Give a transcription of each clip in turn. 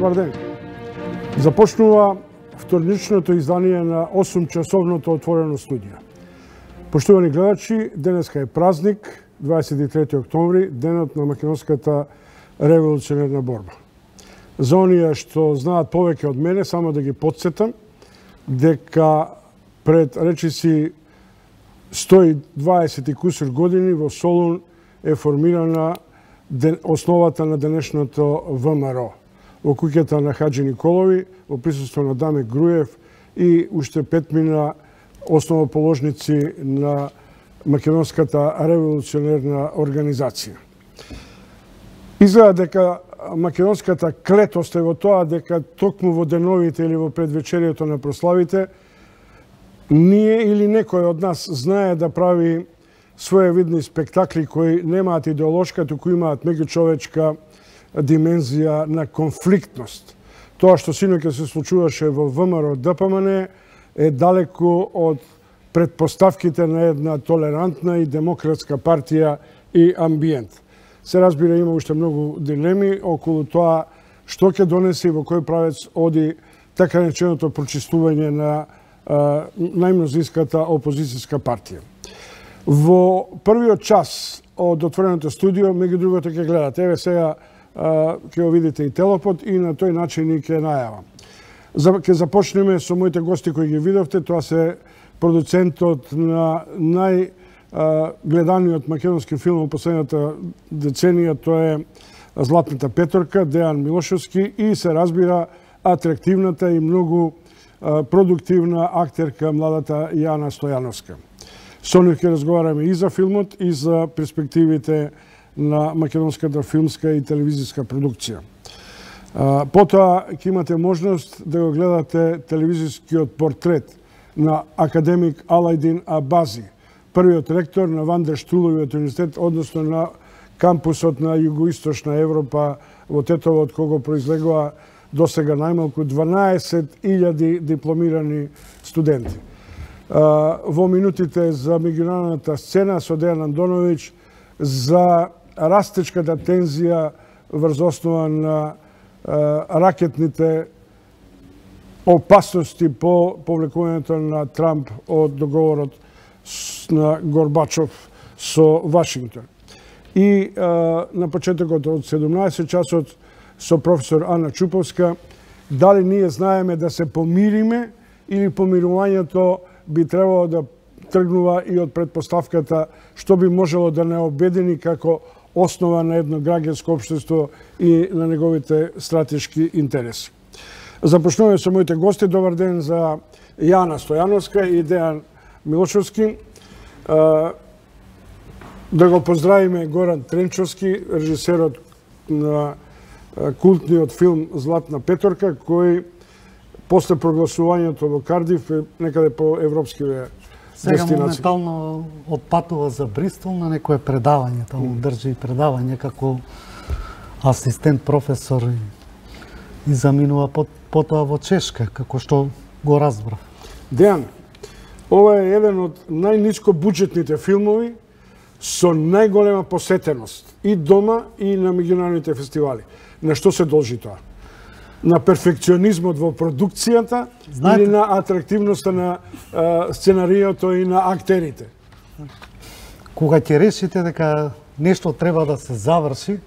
Добар ден. Започнува вторничното издание на 8-часовното отворено студио. Поштувани гледачи, денеска е празник, 23 октомври, денот на македонската револуционерна борба. За оние што знаат повеќе од мене, само да ги потсетам дека пред речиси 120 и кусур години во Солун е формирана основата на денешното ВМРО. Во куќата на Хаџи Николови, во присуство на Даме Груев и уште 5 основоположници на македонската револуционерна организација. Изгледа дека македонската клетост е во тоа дека токму во деновите или во предвечерието на прославите ние или некој од нас знае да прави своевидни спектакли кои немаат идеолошка, туку имаат меѓучовечка димензија на конфликтност. Тоа што синоќа се случуваше во ВМРО ДПМН е далеку од предпоставките на една толерантна и демократска партија и амбиент. Се разбира, има уште многу дилеми околу тоа што ќе донесе и во кој правец оди така нареченото прочистување на најмнозинската опозицијска партија. Во првиот час од отвореното студио, меѓу другото ќе гледате. Еве сега ќе го видите и телопод и на тој начин и ќе најавам. Ќе започнеме со моите гости кои ги видовте. Тоа се продуцентот на најгледаниот македонски филм во последната деценија, тоа е Златната петорка, Дејан Милошевски, и се разбира атрактивната и многу продуктивна актерка младата Јана Стојановска. Со нив ќе разговараме и за филмот, и за перспективите на македонската филмска и телевизиска продукција. Потоа ќе имате можност да го гледате телевизискиот портрет на академик Алајдин Абази, првиот ректор на Ван дер Штуловиот универзитет, односно на кампусот на Југоисточна Европа во Тетово, од кого произлегува досега најмалку 12.000 дипломирани студенти. Во минутите за меѓународната сцена со Дејан Андоновиќ за растечката тензија врз основа на ракетните опасности по повлекувањето на Трамп од договорот на Горбачов со Вашингтон. И на почетокот од 17 часот со професор Ана Чуповска, дали ние знаеме да се помириме или помирувањето би требало да тргнува и од предпоставката што би можело да не обедини како основа на едно граѓанско општество и на неговите стратешки интереси. Започнуваме со моите гости. Добар ден за Јана Стојановска и Дејан Милошевски. Да го поздравиме Горан Тренчовски, режисерот на култниот филм Златна петорка, кој после прогласувањето во Кардиф е некаде по европскиве дестинации. Сега моментално отпатува за Бристол на некое предавање, таму држи предавање како асистент професор и заминува потоа во Чешка, како што го разбрав. Дејан, ова е еден од најниско буџетните филмови со најголема посетеност и дома и на меѓународните фестивали. На што се должи тоа? На перфекционизмот во продукцијата или на атрактивноста на сценариото и на актерите? Кога ќе решите дека нешто треба да се заврши,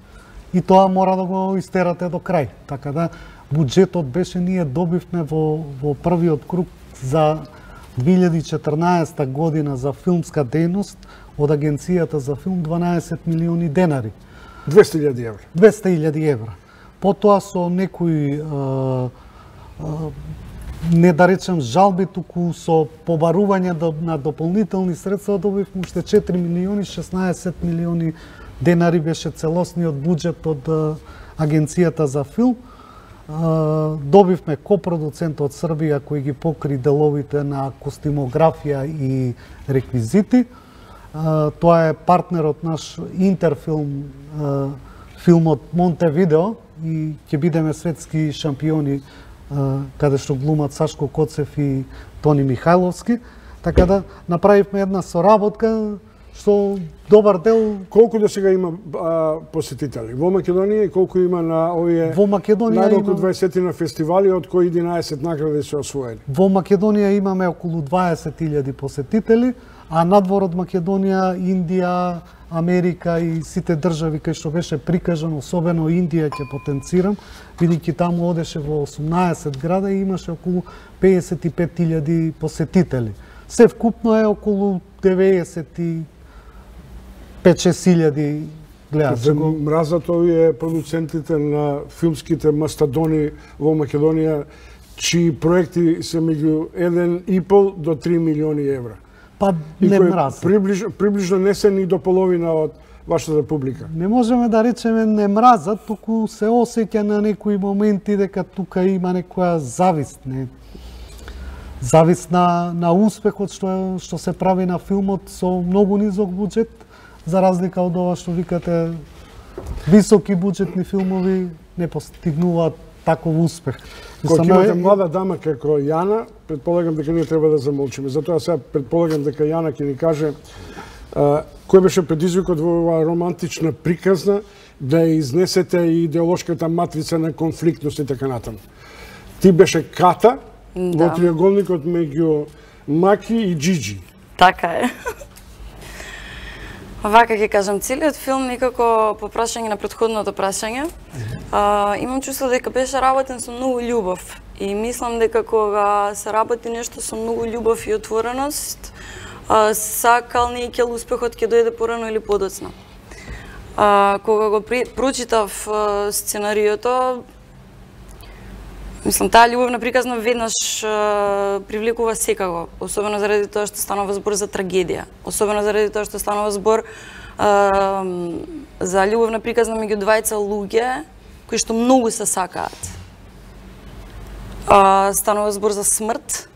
и тоа мора да го истерате до крај. Така да буџетот беше, ние добивме во првиот круг за 2014 година за филмска дејност од Агенцијата за филм 12 милиони денари. 200.000 евра. 200.000 евра. Потоа со некои, не да речем жалби, туку со побарување на дополнителни средства добивме уште 4 милиони, 16 милиони денари беше целосниот буџет од Агенцијата за филм. Добивме копродуцент од Србија кој ги покри деловите на костимографија и реквизити. Тоа е партнерот наш Интерфилм, филмот Монтевидео, и ќе бидеме светски шампиони каде што глумат Сашко Коцев и Тони Михајловски. Така да направивме една соработка што добар дел. Колку до сега има посетители во Македонија и колку има на овие Во Македонија најмалку 20 на фестивали, од кои 11 награди се освоени? Во Македонија имаме околу 20.000 посетители, а надвор од Македонија, Индија, Америка и сите држави кај што беше прикажано, особено Индија ќе потенцирам, бидејќи таму одеше во 18 града и имаше околу 55.000 посетители. Се вкупно е околу 95-6.000 гледачи. Мразат овие продуцентите на филмските мастадони во Македонија, чии проекти се меѓу 1,5 до 3 милиони евра. Па не мразат. Приближно не се ни до половина од вашата публика. Не можеме да речеме не мразат, туку се осеќа на некои моменти дека тука има некоја завист, завист на успехот што се прави на филмот со многу низок буџет, за разлика од ова што викате високи буџетни филмови не постигнуваат таков успех. Кога имате млада дама како Јана, предполагам дека ние треба да замолчиме. Затоа сега предполагам дека Јана ќе ни каже кој беше предизвикот во оваа романтична приказна да изнесете и идеолошката матрица на конфликтност и така натаму. Ти беше Ката во триаголникот меѓу Маки и Джиджи. Така е. Вака ќе кажам, целиот филм некако по прашање на претходното прашање, имам чувство дека беше работен со многу љубов и мислам дека кога се работи нешто со многу љубов и отвореност, сакал не ќе успехот ќе дојде порано или подоцна. Кога го прочитав сценариото, мислам, таа љубовна приказна веднаш привлекува секако, особено заради тоа што станува збор за трагедија, особено заради тоа што станува збор за љубовна приказна меѓу двајца луѓе кои што многу се сакаат. Станува збор за смрт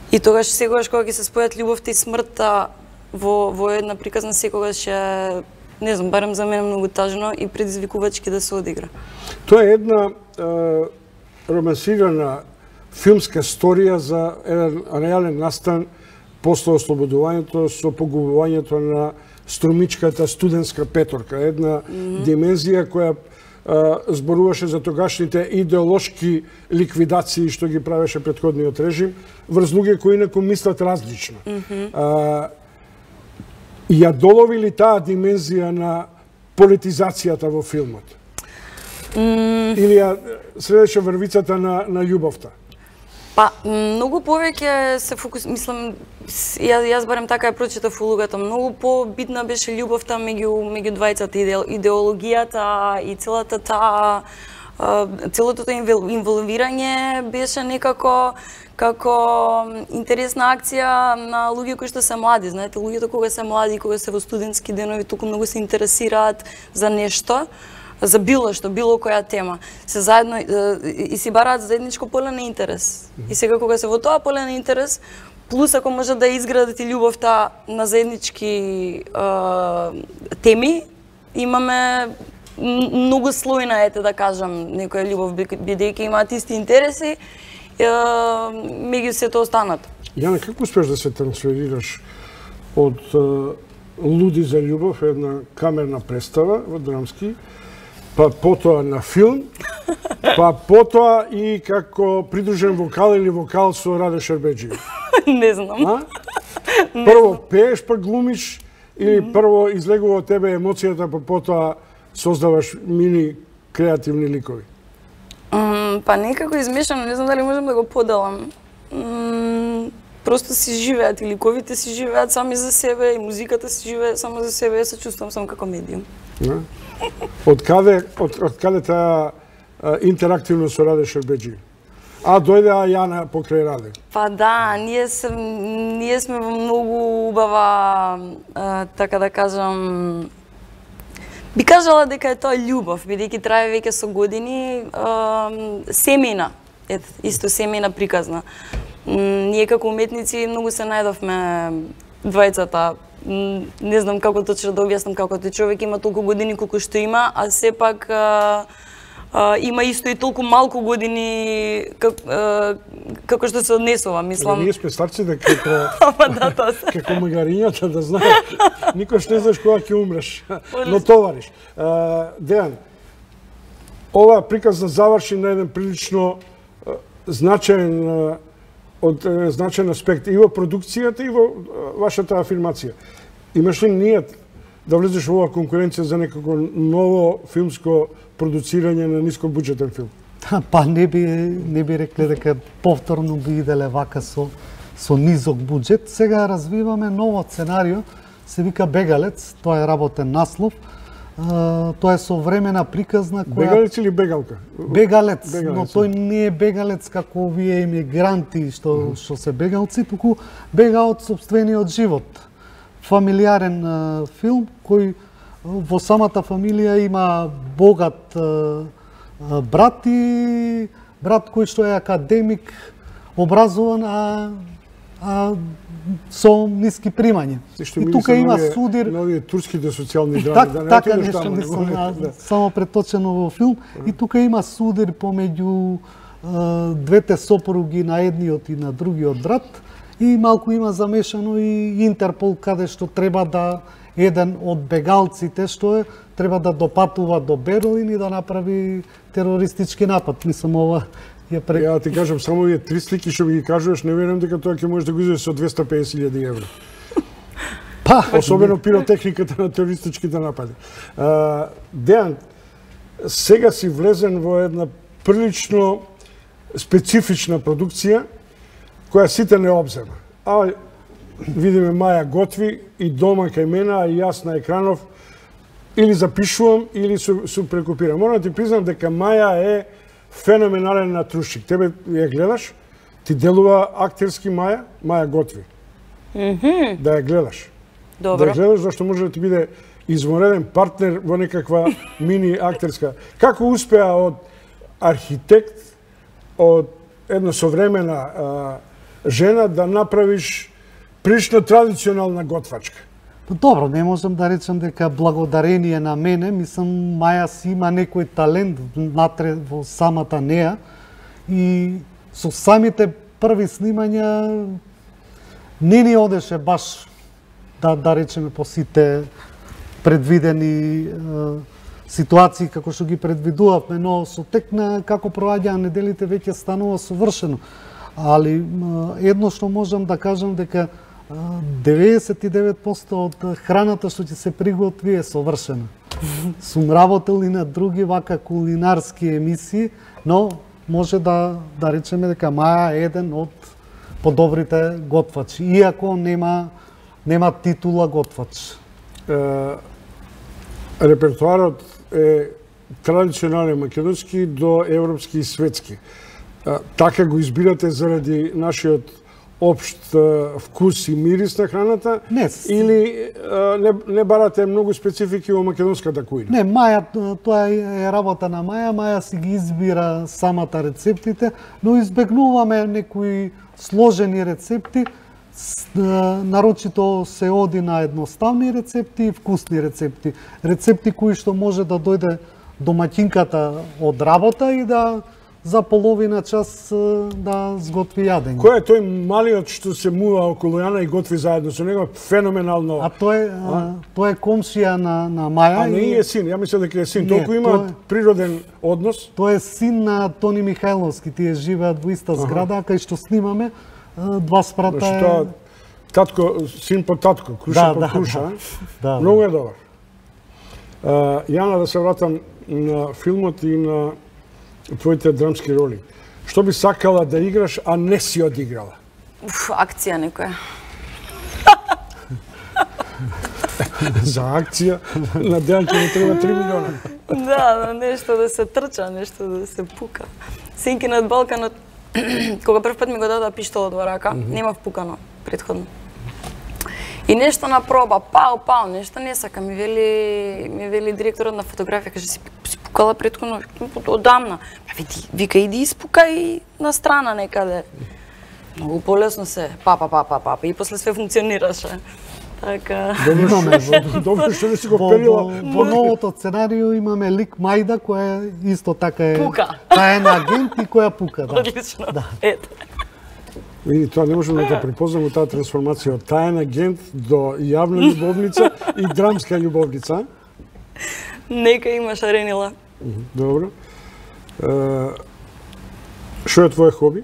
и тогаш секогаш кога ќе се спојат љубовта и смртта во една приказна секогаш е, не знам, барем за мене многу тажно и предизвикувачки да се одигра. Тоа е една романсирана филмска сторија за еден реален настан после ослободувањето со погубувањето на струмичката студентска петорка. Една димензија која зборуваше за тогашните идеолошки ликвидации што ги правеше претходниот режим врз луѓе кои инаку мислат различно. Ја долови ли таа димензија на политизацијата во филмот? Или ја следеше врвицата на љубовта? Па, многу повеќе се мислам, јас барем така ја прочитав улогата, многу побитна беше љубовта меѓу двајцата, идеологијата и целото тоа инволвирање беше некако како интересна акција на луѓе кои што се млади. Знаете, луѓето кога се млади, кога се во студентски денови, толку многу се интересираат за нешто, за било што, било која тема. Се заедно и си бараат заедничко поле на интерес. И сега кога се во тоа поле на интерес, плюс ако можат да изградат и љубовта на заеднички теми, имаме многу слојна, ете да кажам, некоја љубов, бидејќи имаат исти интереси, меѓу сето останато. Јана, како успеш да се трансферираш од Луди за љубов, една камерна представа во драмски, па потоа на филм, па потоа и како придружен вокал или вокал со Раде Шербеџиев? Не знам. Прво пееш, па глумиш, или прво излегува од тебе емоцијата, па потоа создаваш мини креативни ликови? Па некако измешано, не знам дали можам да го поделам. Просто си живеат и ликовите си живеат сами за себе, и музиката си живее само за себе, се чувствам сам како медиум. Од каде таа интерактивност со Раде Шербеџиев? Дојде Јана покрај Раде? Па да, ние сме во многу убава, така да кажам, би кажала дека е тоа љубов, бидејќи трае веќе со години, семејна, исто семејна приказна. Ние како уметници многу се најдовме двајцата. Не знам како точно да објаснам како тој човек има толку години колку што има, а сепак има исто и толку малку години како што се однесува, мислам. Ние сме старци да како да, тоа се. како магарињата да знаеш, никош не знаеш кога ќе умреш, но товариш. Дејан, ова приказ да заврши на еден прилично значаен аспект и во продукцијата и во вашата афирмација. Имаш ли нијат да влезеш во оваа конкуренција за некако ново филмско продуцирање на нискобуџетен филм? Па не би рекле дека повторно би иделе вака со низок буџет. Сега развиваме ново сценарио, се вика Бегалец, тоа е работен наслов. Тоа е современа приказна која... Бегалец или бегалка? Бегалец, но тој не е бегалец како овие емигранти што се бегалци, туку бега од сопствениот живот. Фамилиарен филм кој во самата фамилија има богат брат и брат кој што е академик, образован, а со ниски примања. И тука има судир... Новие турските социјални драми. Така нешто мислам, само преточено во филм. И тука има судир помеѓу двете сопруги на едниот и на другиот брат. И малку има замешано и Интерпол, каде што треба да еден од бегалците што треба да допатува до Берлин и да направи терористички напад. Мислам, ова Ја ти кажам, само овие 3 слики што ми ги кажуваш, не верувам дека тоа ќе може да го излезе со 250.000 евро. Особено пиротехниката на терористичките напади. Дејан, сега си влезен во една прилично специфична продукција, која сите не обзема. Видиме Маја готви и дома кај мене, а и јас на екранов или запишувам, или су прекопирам. Морам да ти признам дека Маја е феноменален натрушик. Тебе ја гледаш, ти делува актерски Маја готви. Да ја гледаш. Добро. Да ја гледаш, зашто може да ти биде измореден партнер во некаква мини актерска. Како успеа од архитект, од една современа жена да направиш прилично традиционална готвачка? Добро, не можам да речам дека благодарение на мене, мислам, Маја си има некој талент внатре во самата неа и со самите први снимања не ни одеше баш да речеме по сите предвидени ситуации како што ги предвидувавме, но со тек на како проаѓаа неделите веќе станува совршено. Али едно што можам да кажам дека 99% од храната што ќе се приготви е совршена. Сум работел и на други вака кулинарски емисии, но може да речеме дека Маја е еден од подобрите готвачи, иако нема титула готвач. Репертуарот е традиционален македонски до европски и светски. Така го избирате заради нашиот општ вкус и мирис на храната? Не. Или не барате многу специфики во македонската кујна? Не, Маја, тоа е работа на Маја. Маја си ги избира самата рецептите, но избегнуваме некои сложени рецепти. Нарочито се оди на едноставни рецепти и вкусни рецепти. Рецепти кои што може да дојде домаќинката од работа и да за половина час да сготви јадење. Кој е тој малиот што се мува околу Јана и готви заедно со него? Феноменално. А тој е комшија на Маја. А не е син, ја мислам дека е син. Толку има природен однос. Тој е син на Тони Михајловски. Тие живеат во иста зграда, кај што снимаме. Два спрата е... Татко, син по татко, круша по круша. Многу е добар. Јана, да се вратам на филмот и на твоите драмски роли. Што би сакала да играш, а не си одиграла? Акција некоја. За акција на Дејан ќе му треба 3 милиона. Да, нешто да се трча, нешто да се пука. Синки над Балканот, кога прв пат ми го дадоа пиштолот во рака, немав пукано претходно. И нешто на проба, пау, нешто не сака, ми вели директорот на фотографија, каже, си пукала претходно одамна. Вика, иди испукај на страна некаде. Многу полесно се, па, и после све функционираше. Така. Добро што не си го перила. Во новото сценарио имаме лик Мајда која исто така е Пука. таен агент и која пука, да. Одлично. Ето. И тоа не можеме да препознаме таа трансформација од таен агент до јавна љубовница и драмска љубовница. Нека има шаренила. Добро. Што е твое хоби?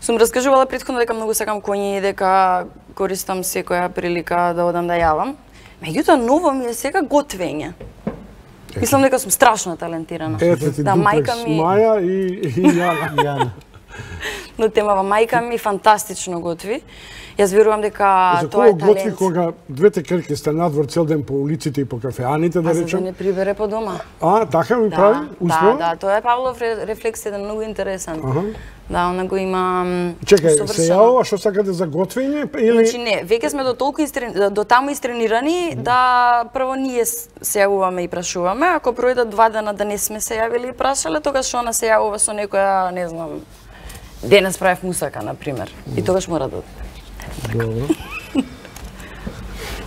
Сум раскажувала претходно дека многу сакам коњи и дека користам секоја прилика да одам да јавам. Меѓутоа, ново ми е сега готвење. Мислам дека сум страшно талентирана. Ете ти да, дуплекс, Маја и Јана. На темава мајка ми фантастично готви. Јас верувам дека тоа е За кого готви талент. кога двете керки сте надвор цел ден по улиците и по кафеаните, да За да речем? не прибере по дома. Така ми прави? Успева? Да, тоа е Павлов рефлекс, еден многу интересен. Да, она го има Чекај, се јавува што сакате за готвење или Значи не, веќе сме до толку до таму истренирани да прво ние се јавуваме и прашуваме, ако пројдат 2 дена да не сме се јавили и прашале, тогаш она се јавува со некоја, не знам, денес правев мусака на пример. И тогаш мора да Добро.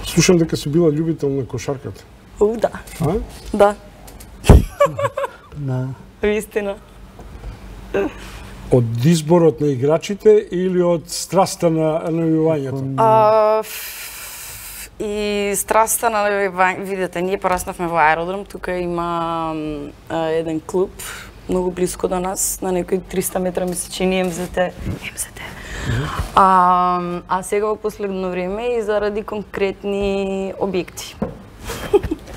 Слушам дека си била љубител на кошарката. Да. А? Да, Да. вистина. Од изборот на играчите или од страста на навивањето? И страста на видете, ние пораснавме во аеродром, тука има еден клуб многу близко до нас, на некои 300 метра ми се чини МЗТ. А сега во последно време и заради конкретни објекти.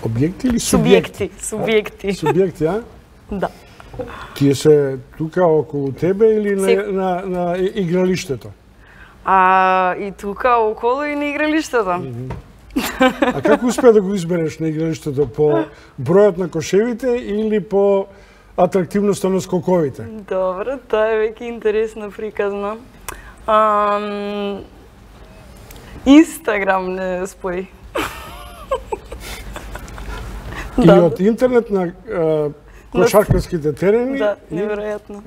Објекти или Субјекти, субјекти? Субјекти, а? Да. Тие се тука околу тебе или на игралиштето? И тука околу и на игралиштето. А како успеа да го избереш на игралиштето? По бројот на кошевите или по атрактивноста на скоковите? Добро, тоа е веќе интересно приказно. Инстаграм не спои. И од интернет на кошаркарските терени? Да, неверојатно.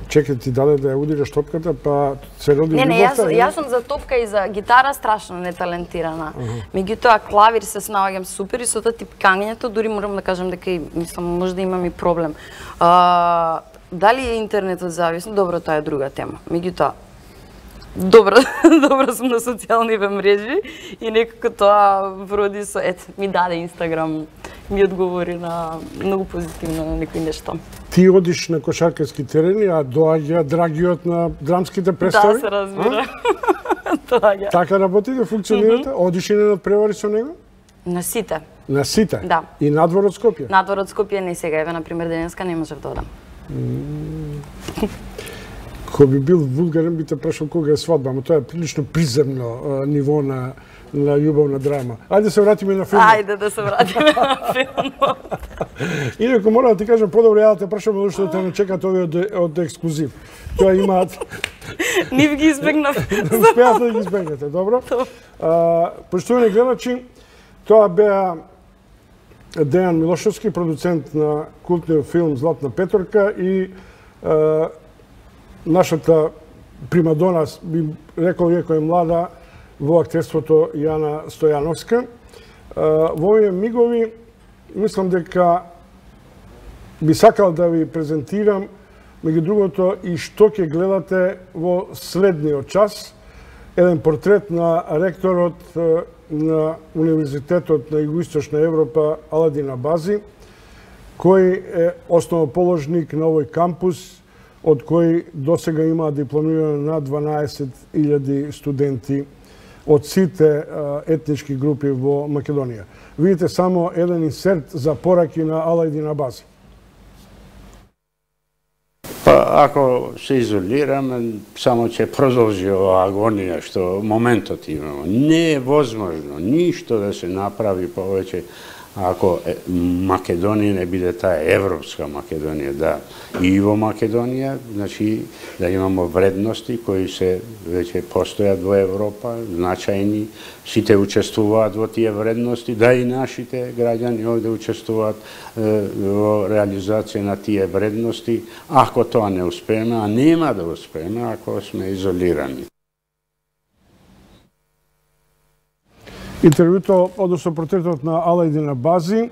Чекај, ти даде да ја удираш топката, па се роди Не, љубовта? јас сум за топка и за гитара страшно неталентирана. Меѓутоа, клавир се снаоѓам супер и со тоа типкањето, дури морам да кажам дека и мислам може да имам и проблем. Дали е интернетот зависно? Добро, тоа е друга тема. Меѓутоа, добро сум на социјалните мрежи и некако тоа вроди со ми даде Инстаграм, ми одговори на многу позитивно на некои нешта. Ти одиш на кошаркарски терени, а доаѓа драгиот на драмските представи? Да, се разбира. Доаѓа. Така работите, функционирате? Одиш и на надпревари со него? На сите. На сите? Да. И надвор од Скопје? Надвор од Скопје не сега, еве на пример денеска не можев да одам. Кој би бил вулгарен би те прашал кога е свадба, но тоа е прилично приземно ниво на љубовна драма. Ајде се вратиме на филмот. Ајде да се вратиме на филмот. Инаку мора да ти кажам подобро ја да те прашам зашто да те не чекат овие од ексклузив. Тоа имаат Нив ги избегнав. успеат да ги избегнете, добро? Поштовани гледачи, тоа беа Дејан Милошевски, продуцент на култниот филм Златна петорка и нашата примадона, би рекол иако е млада, во актерството Јана Стојановска. Во овие мигови, мислам дека би сакал да ви презентирам, меѓу другото, и што ќе гледате во следниот час. Еден портрет на ректорот на Универзитетот на Југоисточна Европа Аладин Абази, кој е основоположник на овој кампус, од кој досега има дипломирано на 12.000 студенти од сите етнички групи во Македонија. Видите само еден инсерт за пораки на Аладин Абази. Па, ако се изолираме, само ќе продолжи ова агонија што моментот имamo. Не е возможно ништо да се направи повеќе ако Македонија не биде таа европска Македонија, да. И во Македонија, значи, да имамо вредности кои се веќе постојат во Европа, значајни, сите учествуваат во тие вредности, да и нашите граѓани овде учествуваат во реализација на тие вредности. Ако тоа не успееме, а нема да успееме ако сме изолирани. Интервјуто, односно портретот на Алајдин Абази,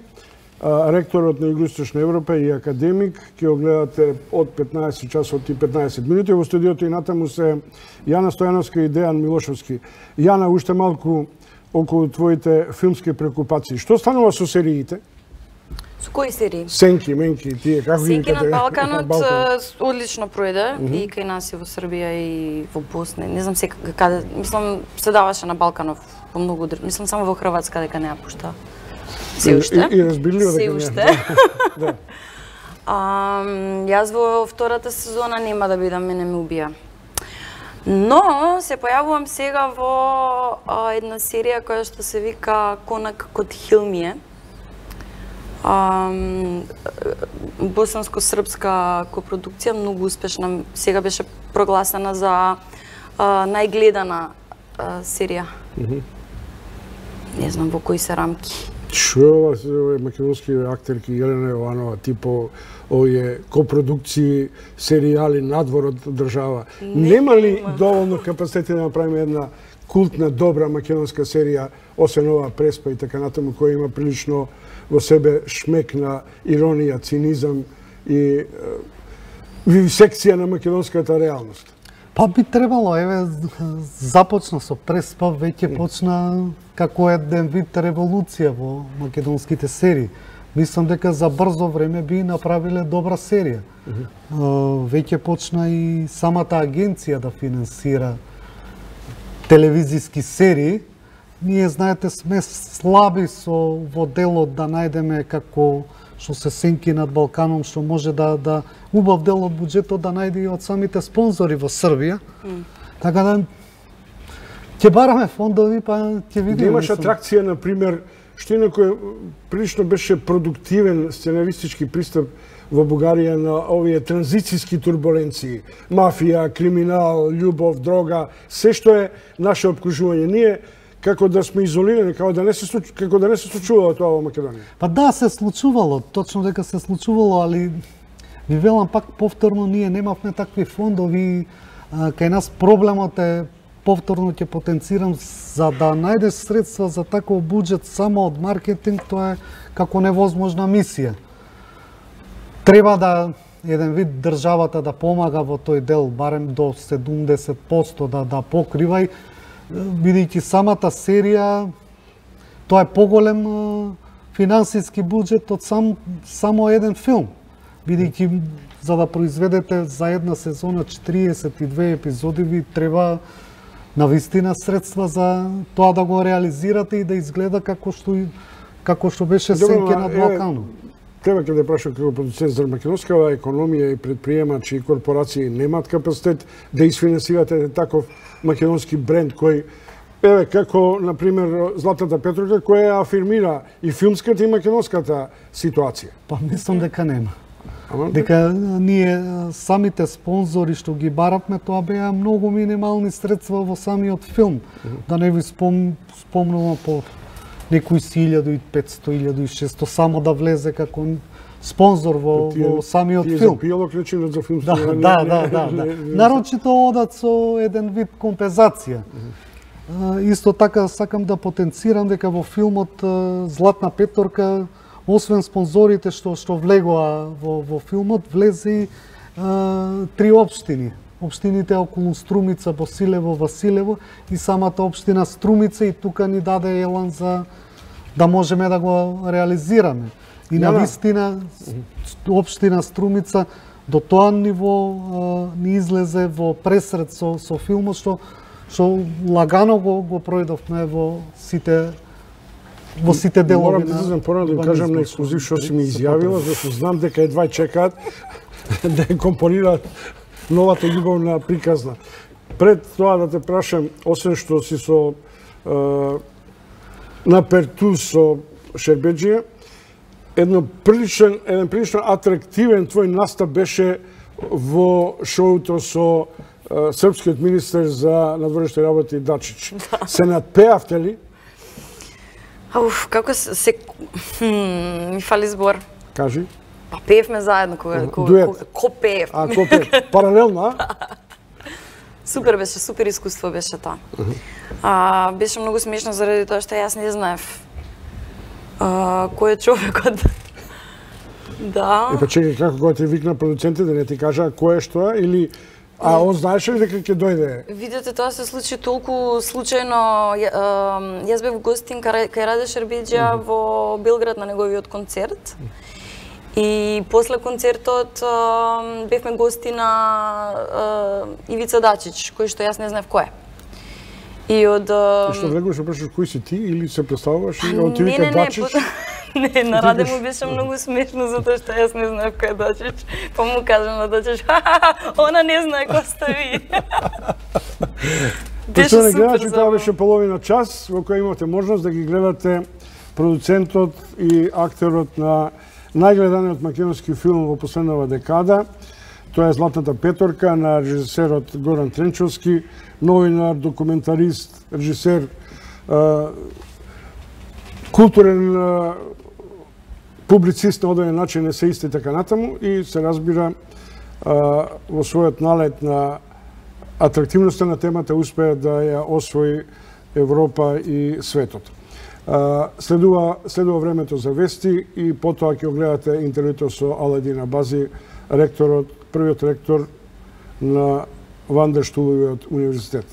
ректорот на Југоисточна Европа и академик, ќе го гледате од 15 часот и 15 минути. Во студиото и натаму се Јана Стојановска и Дејан Милошовски. Јана, уште малку околу твоите филмски прекупации. Што станува со сериите? Со кои серии? Сенки, менки, тие, како ги Сенки викате? на Балканот одлично пројде и кај нас и во Србија и во Босна. Не знам сега каде, мислам се даваше на Балканов по многу, мислам само во Хрватска дека не ја пушта. Се уште. И разбирливо дека не. Се уште. Да. Јас во втората сезона нема да бидам, мене ме убија. Но се појавувам сега во една серија која што се вика Конак код Хилмије. Босанско-српска копродукција, многу успешна. Сега беше прогласена за најгледана серија. Не знам во кои се рамки. Што е македонски актерки Елена Јованова, типо овие копродукции, серијали надвор од држава. Нема ли доволно капацитет да направиме една култна, добра македонска серија, освен ова Преспа и така натаму, која има прилично во себе шмек на иронија, цинизам и вивисекција на македонската реалност? Па би требало, еве, започна со Преспа, веќе почна како еден вид револуција во македонските серии. Мислам дека за брзо време би направиле добра серија. Веќе почна и самата агенција да финансира телевизиски серии. Ние, знаете, сме слаби во делот да најдеме како што се Сенки над Балканом, што може да убав дел од буџетот да најде и од самите спонзори во Србија. Така да ќе бараме фондови, па ќе видиме. Да имаш атракција, например, што инако прилично беше продуктивен сценаристички пристап во Бугарија на овие транзицијски турбуленции. Мафија, криминал, љубов, дрога, се што е наше обкружување. Ние како да сме изолирани, како да не се случувало тоа во Македонија. Па да, се случувало, точно дека се случувало, али ви велам пак повторно, ние немавме такви фондови. Кај нас проблемот е, повторно ќе потенцирам, за да најдеш средства за таков буџет само од маркетинг, тоа е како невозможна мисија. Треба да еден вид државата да помага во тој дел, барем до 70% да покрива, бидејќи самата серија, тоа е поголем финансиски буџет од само еден филм. Бидејќи за да произведете за една сезона 42 епизоди, ви треба навистина средства за тоа да го реализирате и да изгледа како што беше Сенки над Балканот. Треба ќе да прашам како продуцент за македонскава економија и предприемачи и корпорации немаат капацитет да изфинансирате таков македонски бренд кој еве како на пример Златната Петровка која афирмира и филмската и македонската ситуација. Па мислам дека нема. Дека ние самите спонзори што ги баравме, тоа беа многу минимални средства во самиот филм. Да не ви спомнувам по некои 1500, 1600 само да влезе како спонзор во самиот филм. Тие за клучинот за филм. Да. Нарочито одат со еден вид компензација. Исто така сакам да потенцирам дека во филмот Златна Петорка, освен спонзорите што влегоа во филмот, влезе и 3 општини. Општините околу Струмица, Босилево, Василево и самата општина Струмица, и тука ни даде елан за да можеме да го реализираме. И навистина општина Струмица до тоа ниво ни излезе во пресред со филмот, што лагано го пројдовме во сите делови. Морам да излезам порано да кажам на ексклузив што си ми изјавила, зашто знам дека едва чекаат да ја компонираат новата љубовна приказна. Пред тоа да те прашам, освен што си со наперту со Шербеджија, еден прилично атрактивен твој настап беше во шоуто со српскиот министер за надворешни работи Дачич. Се надпеавте ли? Како се... ми фали збор. Кажи. Па пеевме заедно, ко пеев. Ко пеев? Паралелно, а? Супер беше, супер искуство беше тоа. Беше многу смешно заради тоа што јас не знаев кој е човекот. Да. Па чекај, како кога ти викна продуцентите да не ти кажа кој е што е или он знаеше ли дека ќе дојде? Видете, тоа се случи толку случајно. Јас бев гостин кај Раде Шербеџија во Белград на неговиот концерт. И после концертот бевме гости на Ивица Дачич, кој што јас не знаев кој е. И од Што влегуваш прашаш кој си ти или се представуваш и од ти вика Дачич? Не, на Раде му беше многу смешно затоа што јас не знаев кој е Дачич. Па му кажам на Дачич, она не знае кој сте ви. Почнуваме гледачи, тоа беше половина час во која имате можност да ги гледате продуцентот и актерот на најгледаниот македонски филм во последнава декада. Тоа е Златната петорка на режисерот Горан Тренчовски, новинар, документарист, режисер, културен публицист на одреден начин, есеист и така натаму, и се разбира во својот налет на атрактивноста на темата успеа да ја освои Европа и светот. Следува времето за вести и потоа ќе огледате интервјуто со Аладин Абази, првиот ректор на Вандерштуловиот универзитет.